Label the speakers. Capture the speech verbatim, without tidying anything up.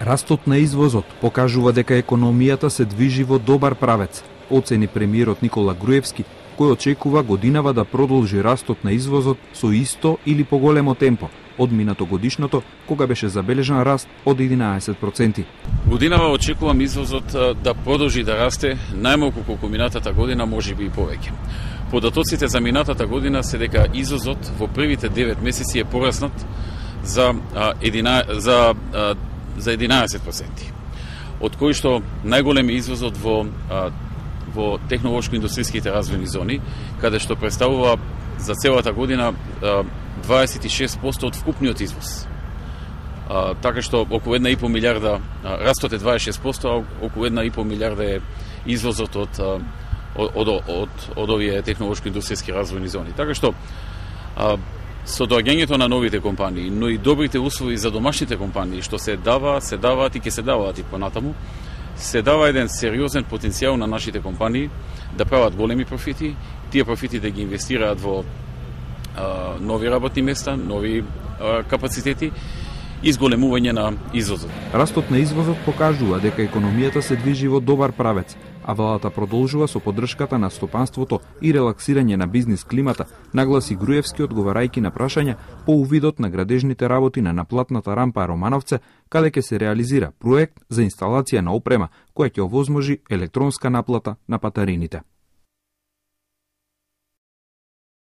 Speaker 1: Растот на извозот покажува дека економијата се движи во добар правец, оцени премиерот Никола Груевски, кој очекува годинава да продолжи растот на извозот со исто или поголемо темпо од минатогодишното, кога беше забележан раст од единаесет проценти.
Speaker 2: Годинава очекувам извозот да продолжи да расте најмалку колку минатата година, можеби и повеќе. Податоците за минатата година се дека извозот во првите девет месеци е пораснат за единаесет за за единаесет проценти. Од кои што најголем е извозот во во технолошко-индустријските развојни зони, каде што представува за целата година дваесет и шест проценти од вкупниот извоз. А, така што околу една и пол милиарда, растот е дваесет и шест проценти, а околу една и пол милиарда е извозот од од од, од, од овие технолошко-индустријски развојни зони. Така што а, со доаѓањето на новите компании, но и добрите услови за домашните компании што се дава, се даваат и ќе се даваат и понатаму, се дава еден сериозен потенцијал на нашите компании да прават големи профити, тие профити да ги инвестираат во а, нови работни места, нови а, капацитети и зголемување на извозот.
Speaker 1: Растот на извозот покажува дека економијата се движи во добар правец, а владата продолжува со поддршката на стопанството и релаксирање на бизнис климата, нагласи Груевски одговарајќи на прашања по увидот на градежните работи на наплатната рампа Романовце, каде ќе се реализира проект за инсталација на опрема која ќе овозможи електронска наплата на патарините.